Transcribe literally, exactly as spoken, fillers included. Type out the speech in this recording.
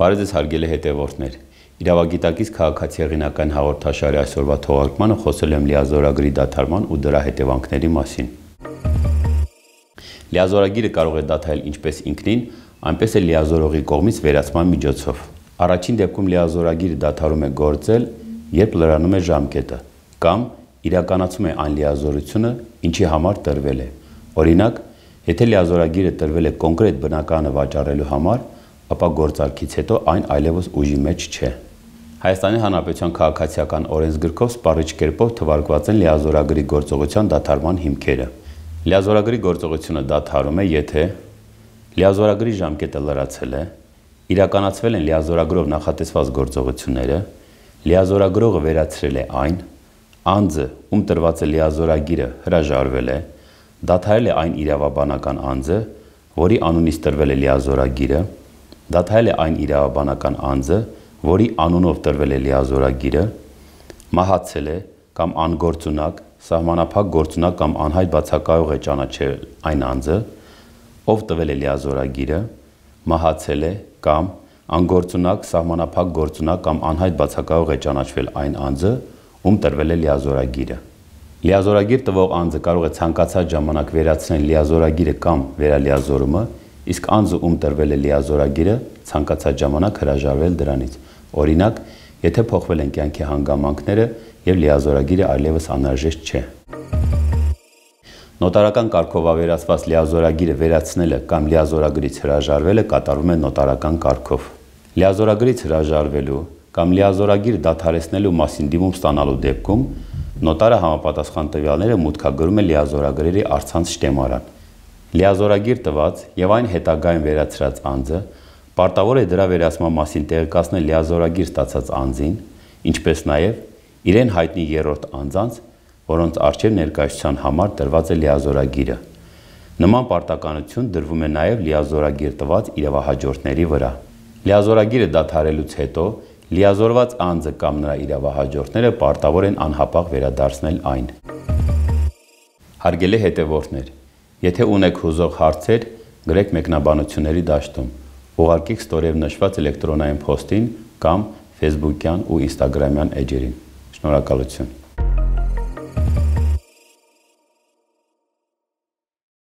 Բարև ձեզ հարգելի հետևորդներ, իրավագիտակից քաղաքացիեղինական հաղորդաշարի այսօրվա թողարկմանը խոսել եմ լիազորագրի դադարման ու դրա հետևանքների մասին։ Լիազորագիրը կարող է դադարել ինչպես ինքնին, այնպես էլ լիազորողի կողմից վերացման միջոցով։ Առաջին դեպքում լիազորագիրը դադարում է գործել, երբ լրանում է ժամկետը, կամ իրականացում է այն լիազորությունը, ինչի համար տրվել է։ Օրինակ, եթե լիազորագիրը տրվել է կոնկրետ բնակարանը վաճառելու համար, ապա գործարքից հետո այն այլևս ուժի մեջ չէ։ Հայաստանի Հանրապետության քաղաքացիական օրենսգրքով սպառիչ կերպով թվարկված են լիազորագրի գործողության դադարման հիմքերը։ Լիազորագրի գործողությունը դադարում է, եթե լիազորագրի ժամկետը լրացել է, իրականացվել են լիազորագրով նախատեսված գործողությունները, լիազորագրողը վերացրել է այն, անձը, ում տրված է լիազորագիրը, հրաժարվել է, դադարել է այն իրավաբանական անձը, որի անունից տրվել է լիազորագիրը, դադարել է այն իրավաբանական անձը, որի անունով տրվել է լիազորագիրը, մահացել է կամ անգործունակ, սահմանափակ գործունակ կամ անհայտ բացակայող է ճանաչել այն անձը, ով տվել է լիազորագիրը, մահացել է կամ անգործունակ, սահմանափակ գործունակ կամ անհայտ բացակայող է ճանաչվել այն անձը, ում տրվել է լիազորագիրը։ Լիազորագիր տվող անձը կարող է ցանկացած ժամանակ վերացնել լիազորագիրը կամ վերալիազորումը, իսկ անձը, ում տրվել է լիազորագիրը, ցանկացած ժամանակ հրաժարվել դրանից։ Օրինակ, եթե փոխվել են կյանքի հանգամանքները եւ լիազորագիրը այլևս անհրաժեշտ չէ։ Նոտարական կարգով ավերացված լիազորագիրը վերացնելը կամ լիազորագրից հրաժարվելը կատարվում է նոտարական կարգով։ Լիազորագրից հրաժարվելու կամ լիազորագիր դադարեցնելու մասին դիմում ստանալու դեպքում նոտարը համապատասխան տվյալները մուտքագրում է լիազորագրերի առցանց շտեմարան։ Լիազորագիր տված եւ այն հետագայում վերացրած անձը պարտավոր է դրա վերացման մասին տեղեկացնել լիազորագիր ստացած անձին, ինչպես նաեւ իրեն հայտնի երրորդ անձանց, որոնց առջև ներկայացության համար տրված է լիազորագիրը։ Նման պարտականություն դրվում է նաեւ լիազորագիր տված իրավահաջորդների վրա։ Լիազորագիրը դադարելուց հետո լիազորված անձը կամ նրա իրավահաջորդները պարտավոր են անհապաղ վերադարձնել այն։ Հարգելի հետևորդներ, եթե ունեք հուզող հարցեր, գրեք մեկնաբանությունների դաշտում, ուղարկեք ստորև նշված էլեկտրոնային փոստին կամ ֆեյսբուքյան ու ինստագրամյան էջերին։ Շնորհակալություն։